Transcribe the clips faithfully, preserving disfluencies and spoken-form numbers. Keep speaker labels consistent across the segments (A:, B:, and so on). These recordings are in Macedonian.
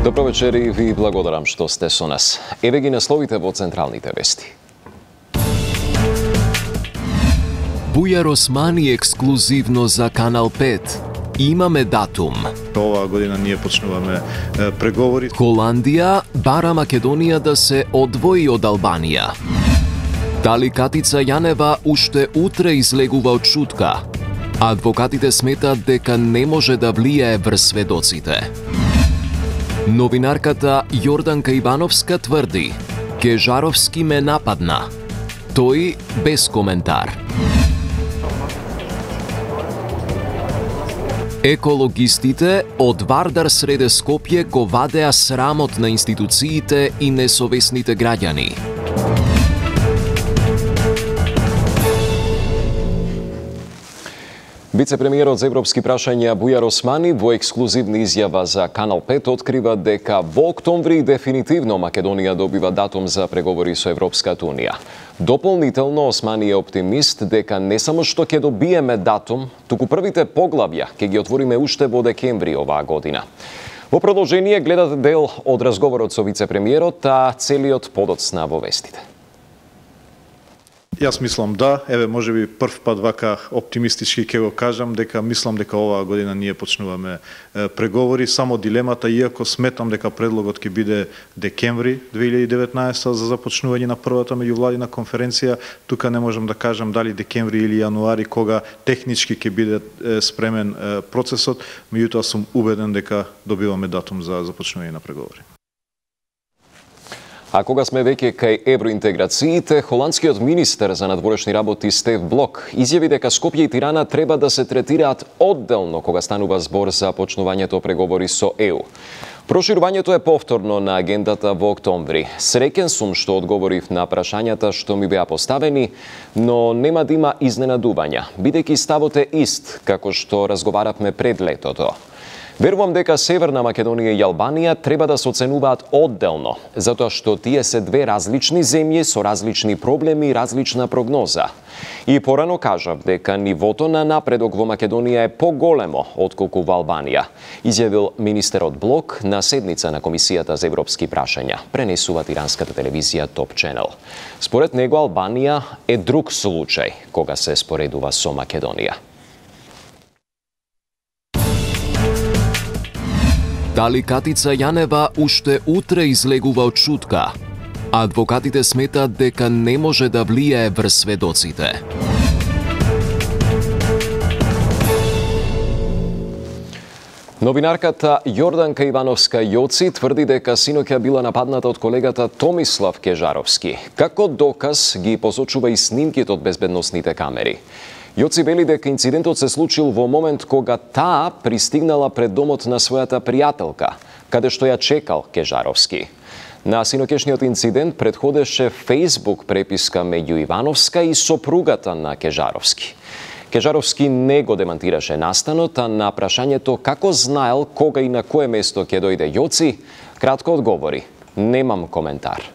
A: Добро вечер и ви благодарам што сте со нас. Еве ги насловите во централните вести.
B: Бујар Османи ексклузивно за Канал пет. Имаме датум.
C: Оваа година ние почнуваме е, преговори.
B: Холандија бара Македонија да се одвои од Албанија. Дали Катица Јанева уште утре излегува од шутка? Адвокатите сметат дека не може да влијае врз сведоците. Новинарката Јорданка Ивановска тврди: Кежаровски ме нападна. Тој без коментар. Екологистите од Вардар среде Скопје го вадеа срамот на институциите и несовесните граѓани.
A: Вице-премиерот за европски прашања Бујар Османи во ексклузивна изјава за Канал пет открива дека во октомври дефинитивно Македонија добива датум за преговори со Европската унија. Дополнително Османи е оптимист дека не само што ќе добиеме датум, туку првите поглавја ќе ги отвориме уште во декември оваа година. Во продолжение гледате дел од разговорот со вице-премиерот, а целиот подоцна во вестите.
C: Јас мислам да, еве можеби прв пат вака оптимистички ќе го кажам дека мислам дека оваа година ние почнуваме е, преговори, само дилемата, иако сметам дека предлогот ќе биде декември две илјади и деветнаесета за започнување на првата меѓувладина конференција, тука не можам да кажам дали декември или јануари кога технички ќе биде е, спремен е, процесот, меѓутоа сум убеден дека добиваме датум за започнување на преговори.
A: А кога сме веќе кај евроинтеграциите, холандскиот министер за надворешни работи Стеф Блок изјави дека Скопје и Тирана треба да се третираат одделно кога станува збор за почнувањето преговори со Е У. Проширувањето е повторно на агендата во октомври. Среќен сум што одговорив на прашањата што ми беа поставени, но нема да има изненадувања, бидејќи ставот е ист како што разговаравме пред летото. Верувам дека Северна Македонија и Албанија треба да се оценуваат одделно, затоа што тие се две различни земји со различни проблеми и различна прогноза. И порано кажав дека нивото на напредок во Македонија е поголемо отколку во Албанија, изјавил министерот Блок на седница на Комисијата за европски прашања, пренесува иранската телевизија Топ Ченел. Според него Албанија е друг случај кога се споредува со Македонија.
B: Дали Катица Јанева уште утре излегува од шутка? Адвокатите сметат дека не може да влијае врз сведоците.
A: Новинарката Јорданка Ивановска Јоци тврди дека синоќа била нападната од колегата Томислав Кежаровски. Како доказ ги посочува и снимките од безбедносните камери. Јоци вели дека инцидентот се случил во момент кога таа пристигнала пред домот на својата пријателка, каде што ја чекал Кежаровски. На синоќешниот инцидент предходеше Facebook преписка меѓу Ивановска и сопругата на Кежаровски. Кежаровски не го демантираше настанот, а на прашањето како знаел кога и на кое место ќе дојде Јоци, кратко одговори: немам коментар.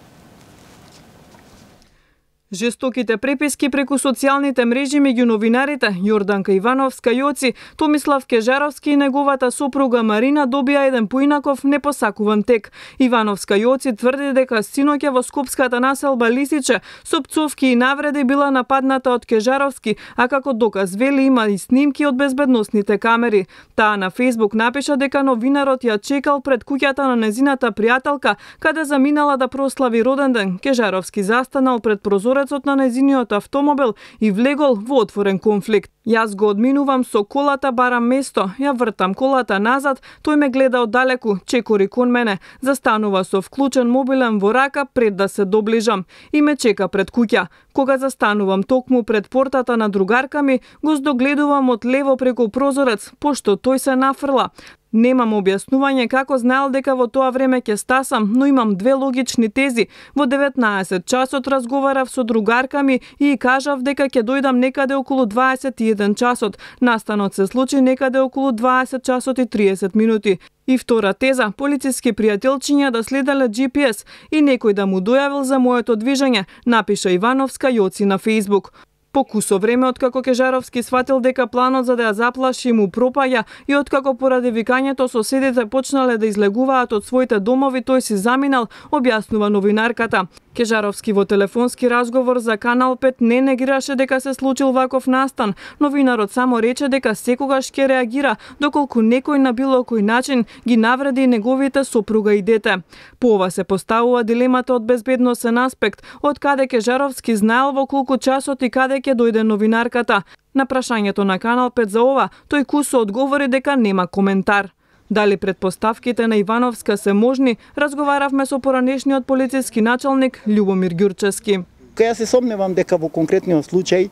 D: Жестоките преписки преку социјалните мрежи меѓу новинарите Јорданка Ивановска Јоци, Томислав Кежаровски и неговата сопруга Марина добија еден поинаков непосакуван тек. Ивановска Јоци тврди дека синоќа во скопската населба Лисиче со пцовки и навреди била нападната од Кежаровски, а како доказ вели има и снимки од безбедносните камери. Таа на Facebook напиша дека новинарот ја чекал пред куќата на незината пријателка, каде заминала да прослави роден ден. Кежаровски застанал пред прозорец на незиниот автомобил и влегол во отворен конфликт. Јас го одминувам со колата, барам место, ја вртам колата назад, тој ме гледа оддалеку, чекори кон мене, застанува со вклучен мобилен во рака пред да се доближам и ме чека пред куќа. Кога застанувам токму пред портата на другарка ми, го здогледувам од лево преку прозорец, пошто тој се нафрла. Немам објаснување како знаел дека во тоа време ќе стасам, но имам две логични тези. Во деветнаесет часот разговарав со другарка ми и кажав дека ќе дојдам некаде околу дваесет и еден часот. Настанот се случи некаде околу дваесет часот и триесет минути. И втора теза, полициски пријателчиња да следеле Джи Пи Ес и некој да му дојавил за моето движење, напиша Ивановска Јоци на Facebook. По кусо време откако Кежаровски сватил дека планот за да ја заплаши му пропаѓа и откако поради викањето соседите почнале да излегуваат од своите домови, тој си заминал, објаснува новинарката. Кежаровски во телефонски разговор за Канал пет не негираше дека се случил ваков настан. Новинарот само рече дека секогаш ќе реагира доколку некој на било кој начин ги навреди неговите сопруга и дете. По ова се поставува дилемата од безбедносен аспект, од каде Кежаровски знаел во колку часот и каде ќе дојде новинарката. На прашањето на Канал пет за ова, тој кусо одговори дека нема коментар. Дали предпоставките на Ивановска се можни, разговаравме со поранешниот полициски началник Љубомир Ѓурчевски.
E: Ја се сомневам дека во конкретниот случај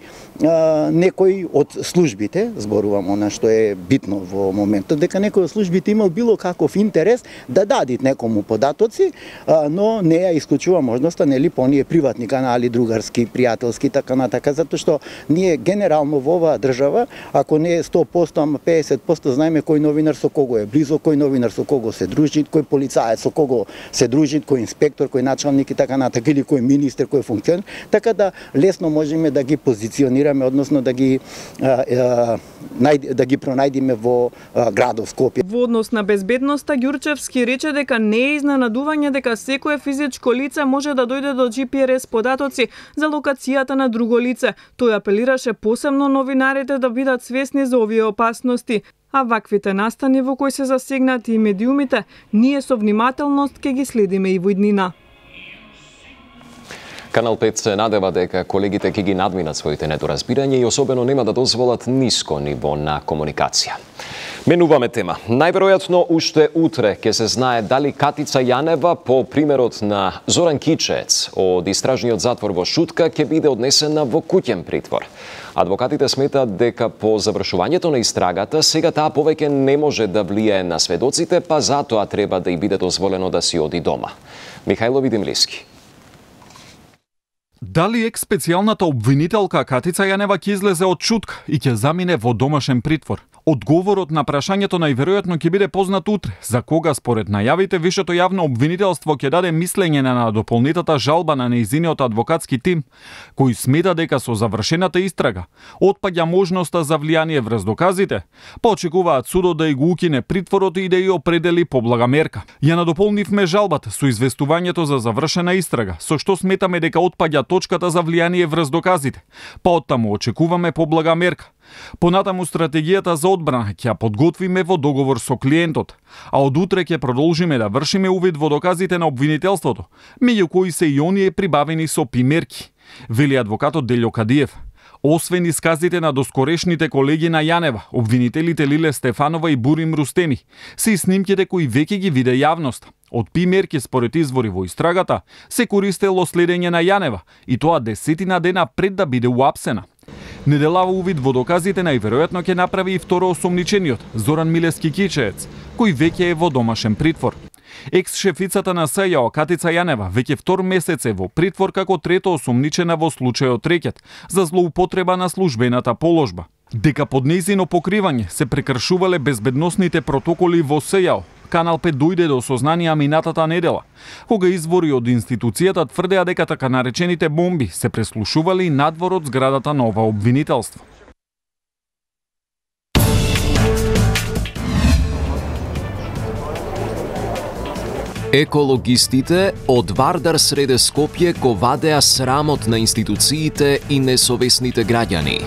E: а, некој од службите, зборувам она што е битно во моментот, дека некој од службите имал било каков интерес да дадит некому податоци, а, но не ја исклучува можноста, нели, по оние приватни канали, другарски, пријателски, така натака, затоа што ние генерално во оваа држава, ако не е сто проценти, ама педесет проценти знаеме кој новинар со кого е близо, кој новинар со кого се дружи, кој полицаец со кого се дружи, кој инспектор, кој началник и така натака, или кој министер, кој функционер. Така да лесно можеме да ги позиционираме, односно да ги а, а, најд, да ги пронајдиме во а, градов Скопје.
D: Во однос на безбедноста, Ѓурчевски рече дека не е изненадување дека секое физичко лице може да дојде до Џи Пи Ар Ес податоци за локацијата на друго лице. Тој апелираше посебно новинарите да бидат свесни за овие опасности. А ваквите настани во кои се засегнати и медиумите, ние со внимателност ќе ги следиме и во иднина.
A: Канал пет се надева дека колегите ќе ги надминат своите недоразбирања и особено нема да дозволат ниско ниво на комуникација. Менуваме тема. Најверојатно уште утре ќе се знае дали Катица Јанева по примерот на Зоран Кичеец од истражниот затвор во Шутка ќе биде однесена во куќен притвор. Адвокатите сметаат дека по завршувањето на истрагата сега таа повеќе не може да влијае на сведоците, па затоа треба да ѝ биде дозволено да си оди дома. Михајло Видимлиски.
F: Дали екс-специјалната обвинителка Катица Јанева ќе излезе од Шутка и ќе замине во домашен притвор? Одговорот на прашањето најверојатно ќе биде познат утре, за кога според најавите Висшето јавно обвинителство ќе даде мислење на дополнитата жалба на нејзиниот адвокатски тим, кој смета дека со завршената истрага отпаѓа можноста за влијание врз доказите, па очекуваат судот да ја го укине притворот и да ја определи поблага мерка. Ја надополнивме жалбата со известувањето за завршена истрага, со што сметаме дека отпаѓа точката за влијание врз доказите, па оттаму очекуваме поблага мерка. Понатаму стратегијата за одбрана ќе ја подготвиме во договор со клиентот, а од утре ќе продолжиме да вршиме увид во доказите на обвинителството, меѓу кои се и оние прибавени со пимерки, вели адвокатот Делјо Кадиев. Освен исказите на доскорешните колеги на Јанева, обвинителите Лиле Стефанова и Бурим Рустеми, се и снимките кои веќе ги виде јавноста. Од пимерки според извори во истрагата се користело следење на Јанева, и тоа десетина дена пред да биде уапсена. Неделава увид во доказите најверојатно ќе направи и второ осомничениот, Зоран Милески Кичеец, кој веќе е во домашен притвор. Екс-шефицата на С Ј О Катица Јанева веќе втор месец е во притвор како трето осомничена во случајот рекет за злоупотреба на службената положба. Дека под нејзино покривање се прекршувале безбедносните протоколи во С Ј О, Канал пет дојде до сознанија минатата недела, кога извори од институцијата тврдеа дека така наречените бомби се преслушували надвор од зградата на ова обвинителство.
B: Екологистите од Вардар среде Скопје го вадеа срамот на институциите и несовесните граѓани.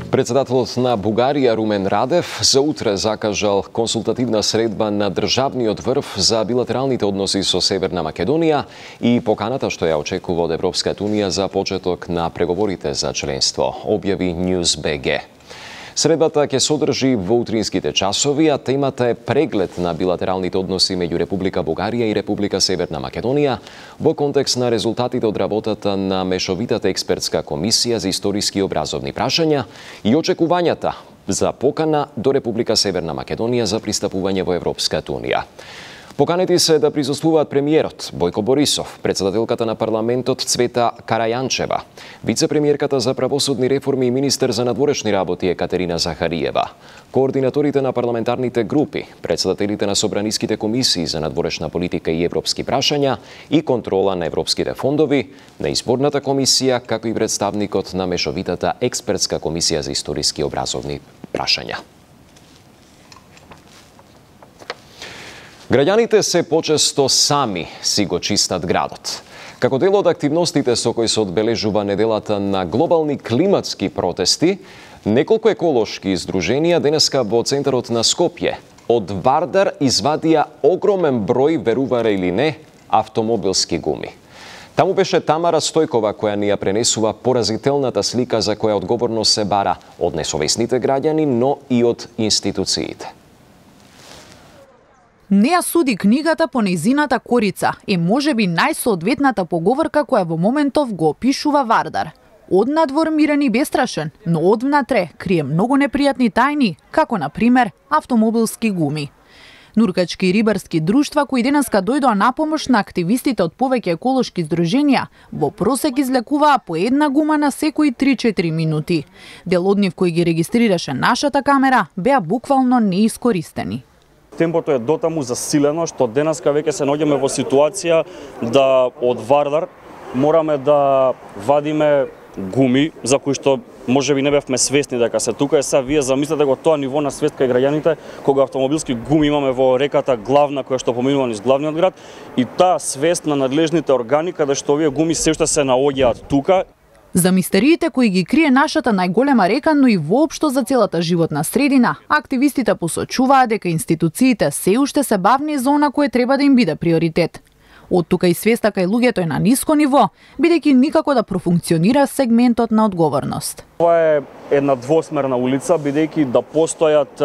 A: Председателот на Бугарија Румен Радев за утре закажал консултативна средба на државниот врв за билатералните односи со Северна Македонија и поканата што ја очекува од Европската унија за почеток на преговорите за членство, објави News точка би джи. Средбата ќе содржи во утринските часови, а темата е преглед на билатералните односи меѓу Република Бугарија и Република Северна Македонија во контекст на резултатите од работата на Мешовитата експертска комисија за историски и образовни прашања и очекувањата за покана до Република Северна Македонија за пристапување во Европската унија. Поканети се да присуствуваат премиерот Бојко Борисов, председателката на парламентот Цвета Карајанчева, вице-премиерката за правосудни реформи и министер за надворешни работи Екатерина Захариева, координаторите на парламентарните групи, председателите на собраниските комисии за надворешна политика и европски прашања и контрола на европските фондови, на изборната комисија, како и представникот на мешовитата експертска комисија за историски и образовни прашања. Граѓаните се почесто сами си го чистат градот. Како дел од активностите со кои се одбележува неделата на глобални климатски протести, неколку еколошки издруженија денеска во центарот на Скопје од Вардар извадија огромен број, верувара или не, автомобилски гуми. Таму беше Тамара Стојкова која ни ја пренесува поразителната слика за која одговорност се бара од несовесните граѓани, но и од институциите.
G: Не ја суди книгата по нејзината корица е можеби најсоодветната поговорка која во моментов го опишува Вардар. Од надвор мирен и бестрашен, но од внатре крие многу непријатни тајни, како на пример автомобилски гуми. Нуркачки и рибарски друштва кои денеска дојдоа на помош на активистите од повеќе еколошки здруженија, во просек излекуваа по една гума на секои три-четири минути. Дел од нив кои ги регистрираше нашата камера беа буквално неискористени.
H: Темпото е дотаму засилено што денеска веќе се наоѓаме во ситуација да од Вардар мораме да вадиме гуми за кои што можеби не бевме свесни дека се тука. Е сега вие замислете го тоа ниво на свест кај граѓаните кога автомобилски гуми имаме во реката главна која што поминува низ главниот град и таа свест на надлежните органи каде што овие гуми се уште се наоѓаат тука.
G: За мистериите кои ги крие нашата најголема река, но и воопшто за целата животна средина, активистите посочуваа дека институциите се уште се бавни за она кое треба да им биде приоритет. Од тука и свеста кај луѓето е на ниско ниво, бидејќи никако да профункционира сегментот на одговорност.
H: Ова е една двосмерна улица, бидејќи да постојат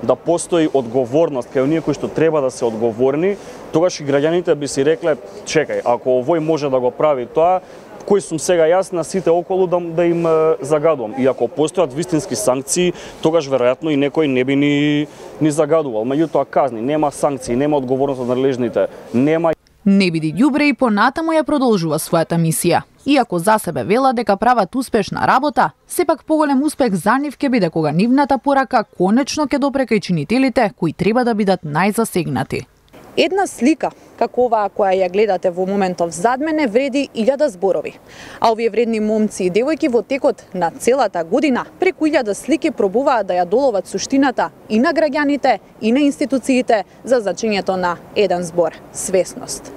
H: да постои одговорност кај оние кои што треба да се одговорни, тогаш и граѓаните би си рекле, чекај, ако овој може да го прави тоа, кој сум сега јас на сите околу да, да им загадувам. И ако постојат вистински санкции, тогаш веројатно и некој не би ни, ни загадувал. Меѓутоа казни, нема санкции, нема одговорност од надлежните, нема.
G: Не биди ѓубре и понатаму ја продолжува својата мисија. Иако за себе вела дека прават успешна работа, сепак поголем успех за нив ќе биде кога нивната порака конечно ќе допре кај чинителите кои треба да бидат најзасегнати.
I: Една слика, како оваа која ја гледате во моментов зад мене, вреди илјада зборови. А овие вредни момци и девојки во текот на целата година преку илјада слики пробуваат да ја доловат суштината и на граѓаните, и на институциите за значењето на еден збор – свесност.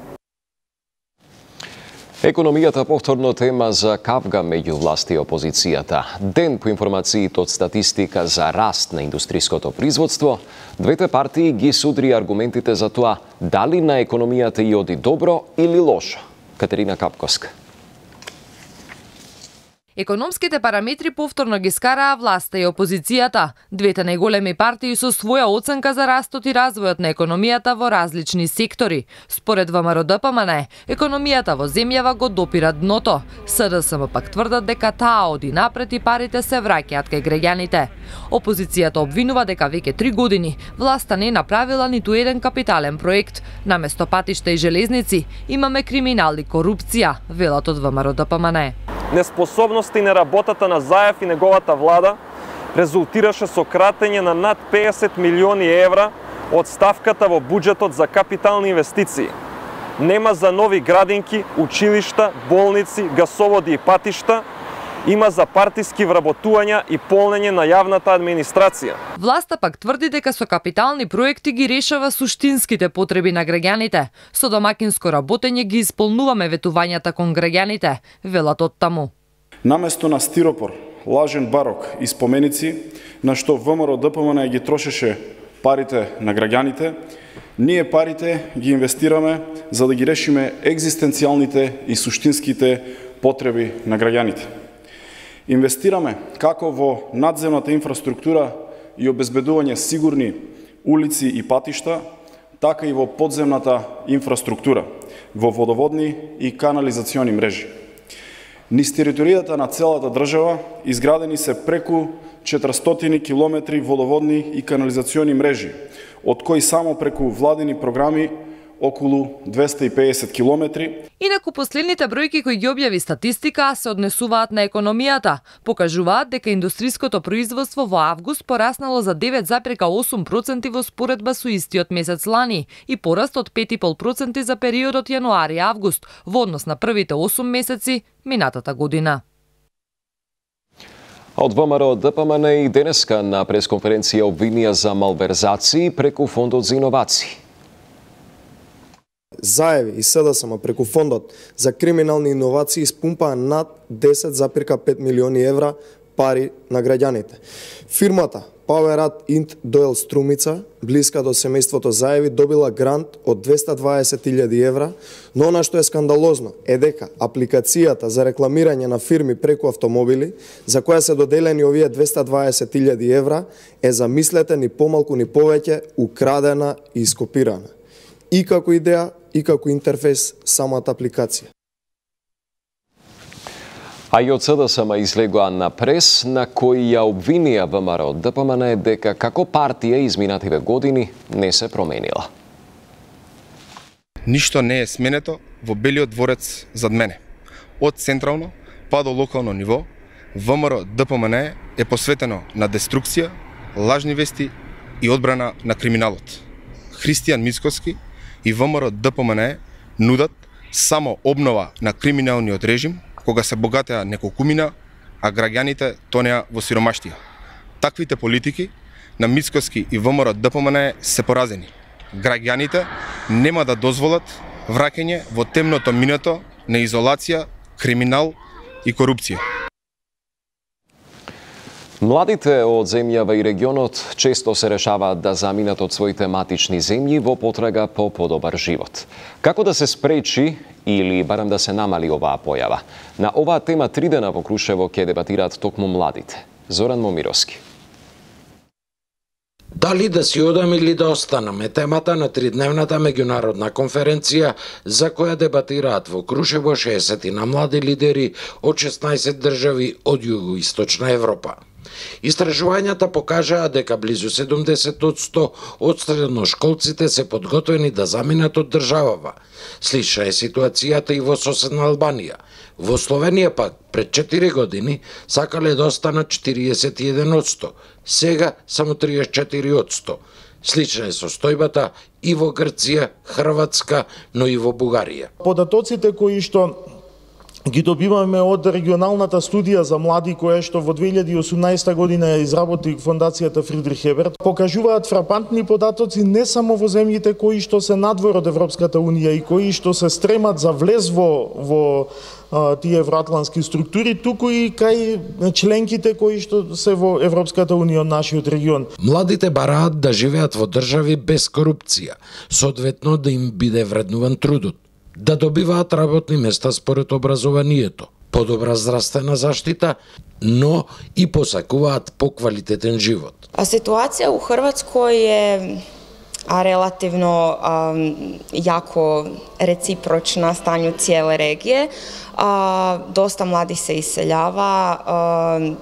A: Економијата повторно тема за кавга меѓу власти и опозицијата. Ден по информациите од статистика за раст на индустриското производство, двете партии ги судри аргументите за тоа дали на економијата и оди добро или лошо. Катерина Капковска.
J: Економските параметри повторно ги скараа власта и опозицијата. Двете најголеми партии со своја оценка за растот и развојот на економијата во различни сектори. Според ВМРО-ДПМН, економијата во земјава го допира дното. СДСМ пак тврдат дека таа оди напред и парите се враќаат кај граѓаните. Опозицијата обвинува дека веќе три години власта не направила ниту еден капитален проект. Наместо патишта и железници имаме криминал и корупција, велат од ВМРО-ДПМН.
K: Неспособноста и неработата на Заев и неговата влада резултираше со кратење на над песет милиони евра од ставката во буџетот за капитални инвестиции. Нема за нови градинки, училишта, болници, гасоводи и патишта, има за партиски вработувања и полнење на јавната администрација.
J: Власта пак тврди дека со капитални проекти ги решава суштинските потреби на граѓаните. Со домакинско работење ги исполнуваме ветувањата кон граѓаните, велат од таму.
L: Наместо на стиропор, лажен барок и споменици, на што ВМРО-ДПМН ги трошеше парите на граѓаните, ние парите ги инвестираме за да ги решиме екзистенцијалните и суштинските потреби на граѓаните. Инвестираме како во надземната инфраструктура и обезбедување сигурни улици и патишта, така и во подземната инфраструктура, во водоводни и канализациони мрежи. Низ територијата на целата држава изградени се преку четиристотини километри водоводни и канализациони мрежи, од кои само преку владини програми околу двесте и педесет километри.
J: Инаку последните бројки кои ги објави статистика се однесуваат на економијата. Покажуваат дека индустриското производство во август пораснало за девет запирка осум проценти во споредба со истиот месец лани и пораст од пет и пет проценти за периодот јануари-август во однос на првите осум месеци минатата година.
A: Од ВМРО ДПМН и денеска на пресконференција обвинија за малверзации преку фондот за иновации.
M: Заеви и СДСМ преку фондот за криминални иновации испумпаа над десет запирка пет милиони евра пари на граѓаните. Фирмата Powerat Int Doyle Струмица, блиска до семејството Заеви, добила грант од двесте и дваесет илјади евра, но она што е скандалозно е дека апликацијата за рекламирање на фирми преку автомобили, за која се доделени овие двесте и дваесет илјади евра, е замислете ни помалку ни повеќе украдена и ископирана. И како идеја, и како интерфейс самата апликација.
A: А и од СДСМ излегоа на прес на кој ја обвинија ВМРО ДПМН дека како партија изминативе години не се променила.
N: Ништо не е сменето во Белиот дворец зад мене. Од централно па до локално ниво, ВМРО ДПМН е посветено на деструкција, лажни вести и одбрана на криминалот. Христијан Мицкоски и ВМРО ДПМН нудат само обнова на криминалниот режим кога се богатеа неколкумина, а граѓаните тонеа во сиромаштија. Таквите политики на Мицкоски и ВМРО ДПМН се поразени. Граѓаните нема да дозволат враќање во темното минато на изолација, криминал и корупција.
A: Младите од земјава и регионот често се решаваат да заминат од своите матични земји во потрага по подобар живот. Како да се спречи или барем да се намали оваа појава? На оваа тема три дена во Крушево ќе дебатираат токму младите. Зоран Момировски.
O: Дали да си одам или да останам е темата на тридневната меѓународна конференција за која дебатираат во Крушево шеесет на млади лидери од шеснаесет држави од југоисточна Европа. Истражувањата покажаа дека близу седумдесет одсто од средношколците се подготвени да заминат од државава. Слична е ситуацијата и во соседна Албанија. Во Словенија пак пред четири години сакале да останат четириесет и еден одсто, сега само триесет и четири одсто. Слична е состојбата и во Грција, Хрватска, но и во Бугарија.
P: Податоците кои што ги добиваме од регионалната студија за млади која што во две илјади и осумнаесета година ја изработи фондацијата Фридрих Еберт, покажуваат фрапантни податоци не само во земјите кои што се надвор од Европската унија и кои што се стремат за влез во, во а, тие евроатлантски структури, туку и кај членките кои што се во Европската унија од нашиот регион.
O: Младите бараат да живеат во држави без корупција, соодветно да им биде вреднуван трудот, да добиваат работни места според образованието, подобра здравствена заштита, но и посакуваат поквалитетен живот.
Q: А ситуација у Хрватској е а релативно а, јако реципрочна станju цијеле регије. А, доста млади се иселјава. А,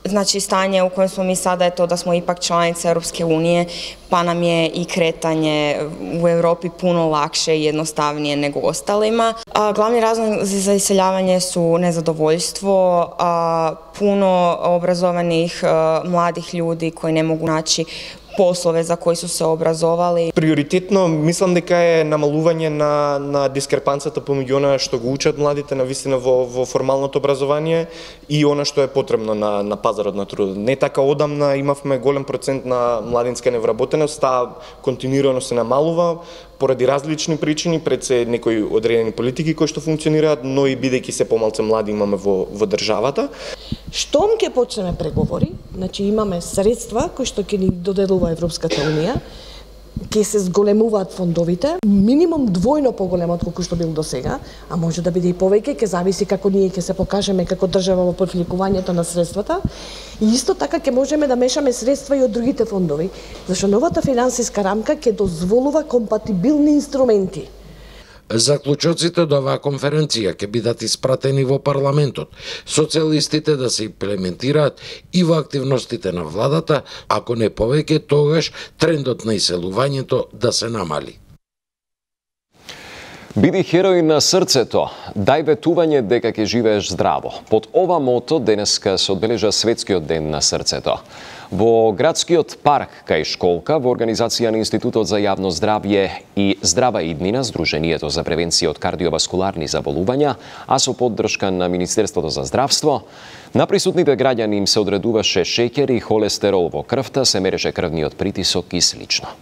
Q: Значи, стање у коjem smo mi sada je to da smo ipak članice Europske unije, pa nam je i kretanje u Europi puno lakše i jednostavnije nego ostalima. A, glavni razlozi za iseljavanje su nezadovoljstvo, a, puno obrazovanih a, mladih ljudi koji ne mogu naći poslove za koji su se obrazovali.
R: Приоритетно мислам дека е намалување на на дискрепанцата помеѓу она што го учат младите на вистина во во формалното образование и она што е потребно на на пазарот на трудот. Не така одамна имавме голем процент на младинска невработеност, таа континуирано се намалува поради различни причини, пред се некои одредени политики кои што функционираат, но и бидејќи се помалку млади имаме во во државата.
S: Штом ќе почнеме преговори, значи имаме средства кои што ќе ни додедува Европската унија, ќе се зголемуваат фондовите, минимум двојно поголемо од колку што бил до сега, а може да биде и повеќе, ќе зависи како ние ќе се покажеме како држава во привлекувањето на средствата. И исто така ќе можеме да мешаме средства и од другите фондови, зашто новата финансиска рамка ќе дозволува компатибилни инструменти.
O: Заклучоците до оваа конференција ќе бидат испратени во парламентот, со цел истите да се имплементираат и во активностите на владата, ако не повеќе, тогаш трендот на иселувањето да се намали.
A: Биди херој на срцето, дај ветување дека ќе живееш здраво. Под ова мото денеска се одбележа Светскиот ден на срцето. Во градскиот парк кај школка, во организација на Институтот за јавно здравје и Здрава иднина, Сдруженијето за превенција од кардиоваскуларни заболувања, а со поддршка на Министерството за здравство, на присутните граѓани им се одредуваше шеќер и холестерол во крвта, се мереше крвниот притисок и слично.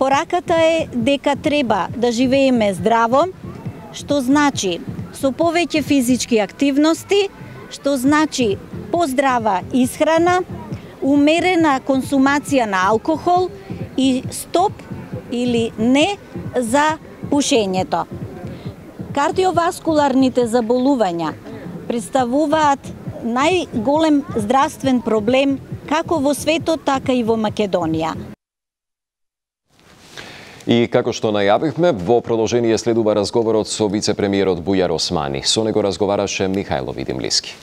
T: Пораката е дека треба да живееме здраво, што значи со повеќе физички активности, што значи поздрава исхрана, умерена консумација на алкохол и стоп или не за пушењето. Кардиоваскуларните заболувања представуваат најголем здравствен проблем како во светот, така и во Македонија.
A: И како што најавивме, во продолжение следува разговорот со вице-премиерот Бујар Османи. Со него разговараше Михајло Видимлиски.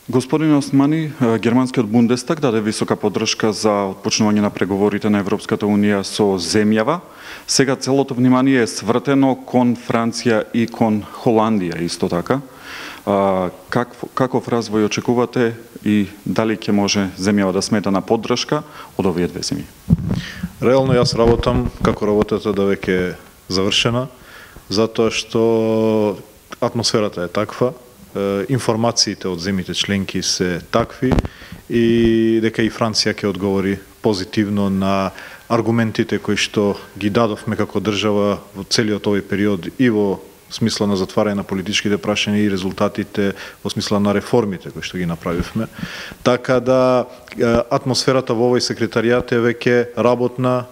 F: Господин Османи, германскиот Бундестаг даде висока поддршка за отпочнување на преговорите на Европската Унија со земјава. Сега целото внимание е свртено кон Франција и кон Холандија исто така. Как, каков развој очекувате и дали ќе може земјава да смета на поддршка од овие две земји?
C: Реално јас работам како работата да веќе е завршена, затоа што атмосферата е таква, информациите од земјите членки се такви и дека и Франција ќе одговори позитивно на аргументите кои што ги дадовме како држава во целиот овој период и во смисла на затварање на политичките прашања и резултатите во смисла на реформите кои што ги направивме. Така да атмосферата во овој секретаријат е веќе работна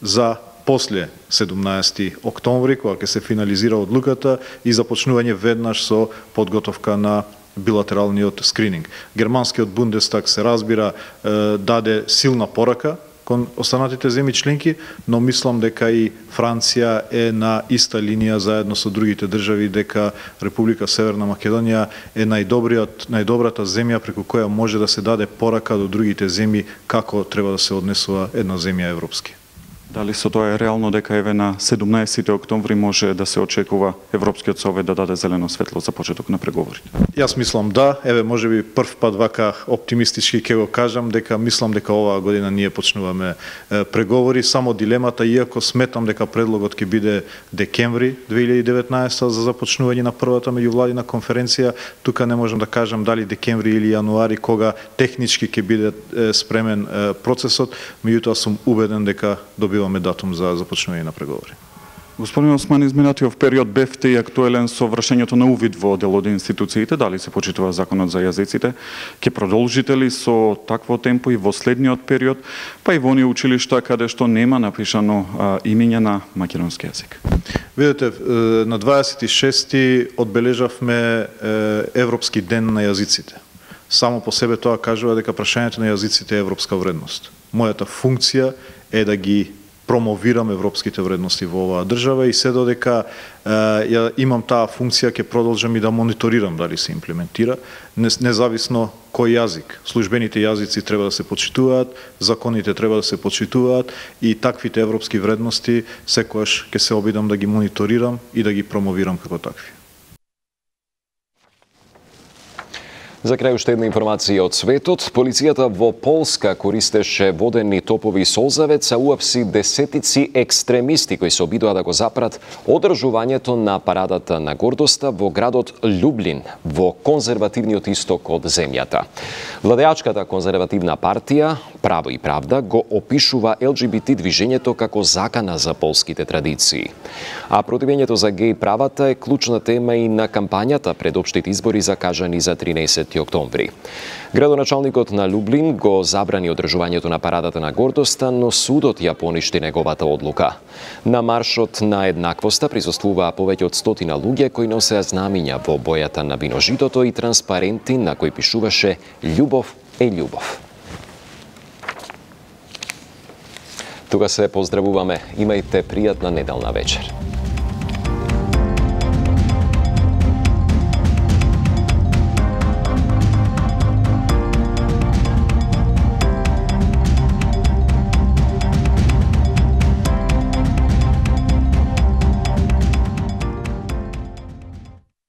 C: за после седумнаесети октомври, кога ќе се финализира одлуката и започнување веднаш со подготовка на билатералниот скрининг. Германскиот Бундестаг, се разбира, даде силна порака кон останатите земји членки, но мислам дека и Франција е на иста линија заедно со другите држави, дека Република Северна Македонија е најдобриот, најдобрата земја преку која може да се даде порака до другите земји како треба да се однесува една земја европски.
F: Дали со тоа е реално дека еве на седумнаесети октомври може да се очекува Европскиот совет да даде зелено светло за почеток на преговорите?
C: Јас мислам да, еве можеби прв пат вака оптимистички ќе го кажам дека мислам дека оваа година ние почнуваме е, преговори, само дилемата, иако сметам дека предлогот ќе биде декември две илјади и деветнаесета за започнување на првата меѓувладина конференција, тука не можам да кажам дали декември или јануари кога технички ќе биде е, спремен е, процесот, меѓутоа сум убеден дека добиваме датум за започнување на преговори.
F: Господин Османи, изминатиот период бевте и актуелен со вршењето на увид во дел од институциите, дали се почитува законот за јазиците? Ќе продолжите ли со такво темпо и во следниот период, па и во оние училишта каде што нема напишано а, имење на македонски јазик?
C: Видете, на дваесет и шести одбележавме Европски ден на јазиците. Само по себе тоа кажува дека прашањето на јазиците е европска вредност. Мојата функција е да ги промовирам европските вредности во оваа држава и се додека е, ја имам таа функција, ќе продолжам и да мониторирам дали се имплементира, независно кој јазик. Службените јазици треба да се почитуваат, законите треба да се почитуваат и таквите европски вредности секогаш ќе се обидам да ги мониторирам и да ги промовирам како такви.
A: За крај уште една информација од светот. Полицијата во Полска користеше водени топови солзавец, а уапси десетици екстремисти кои се обидоа да го запрат одржувањето на парадата на гордоста во градот Љублин, во конзервативниот исток од земјата. Владеачката конзервативна партија Право и правда го опишува Ел Џи Би Ти движењето како закана за полските традиции. А противењето за геј правата е клучна тема и на кампањата пред општите избори закажани за тринаесети октомври. Градоначалникот на Љублин го забрани одржувањето на парадата на гордоста, но судот ја поништи неговата одлука. На маршот на еднаквоста присуствуваа повеќе од стотина луѓе кои носеа знамиња во бојата на виножитото и транспаренти на кои пишуваше "Љубов е љубов". Тука се поздравуваме. Имајте пријатна неделна вечер.